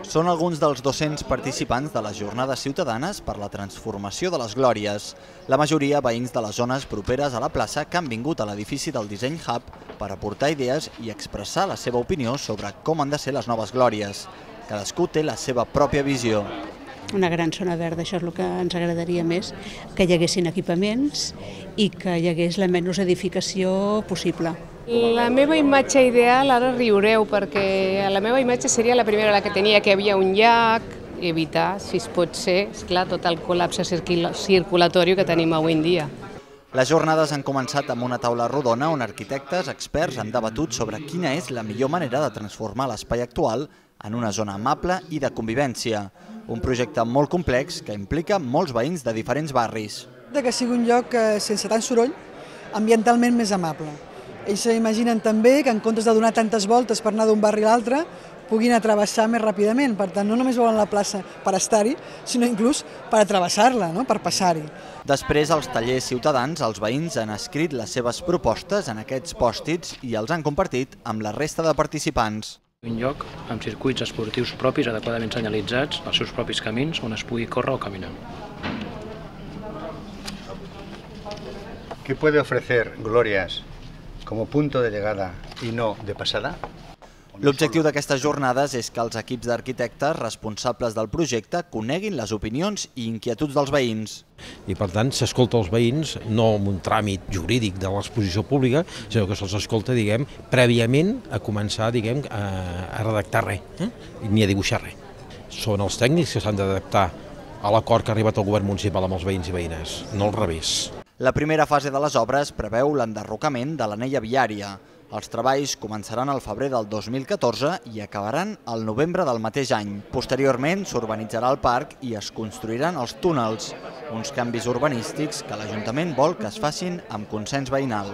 Són alguns dels 200 participants de les jornades ciutadanes per la transformació de les Glòries. La majoria veïns de les zones properes a la plaça que han vingut a l'edifici del Disseny Hub per aportar idees i expressar la seva opinió sobre com han de ser les noves Glòries. Cadascú té la seva pròpia visió. Una gran zona verda, això és el que ens agradaria més, que hi haguessin equipaments i que hi hagués la menys edificació possible. La meva imatge ideal, ara riureu, perquè la meva imatge seria la primera, la que tenia, que hi havia un llac, evitar, si es pot ser, esclar, tot el col·lapse circulatori que tenim avui en dia. Les jornades han començat amb una taula rodona on arquitectes, experts han debatut sobre quina és la millor manera de transformar l'espai actual en una zona amable i de convivència. Un projecte molt complex que implica molts veïns de diferents barris. Que sigui un lloc sense tant soroll, ambientalment més amable. Ells s'imaginen també que en comptes de donar tantes voltes per anar d'un barri a l'altre, puguin travessar més ràpidament. Per tant, no només volen la plaça per estar-hi, sinó inclús per travessar-la, per passar-hi. Després, als tallers ciutadans, els veïns han escrit les seves propostes en aquests pòstits i els han compartit amb la resta de participants. Un lloc amb circuits esportius propis adequadament senyalitzats, els seus propis camins on es pugui córrer o caminar. ¿Qué puede ofrecer Glorias como punto de llegada y no de pasada? L'objectiu d'aquestes jornades és que els equips d'arquitectes responsables del projecte coneguin les opinions i inquietuds dels veïns. I per tant s'escolta els veïns no amb un tràmit jurídic de l'exposició pública, sinó que se'ls escolta, prèviament a començar, a redactar res, ni a dibuixar res. Són els tècnics que s'han d'adaptar a l'acord que ha arribat el govern municipal amb els veïns i veïnes, no al revés. La primera fase de les obres preveu l'enderrocament de l'anella viària. Els treballs començaran al febrer del 2014 i acabaran al novembre del mateix any. Posteriorment s'urbanitzarà el parc i es construiran els túnels, uns canvis urbanístics que l'Ajuntament vol que es facin amb consens veïnal.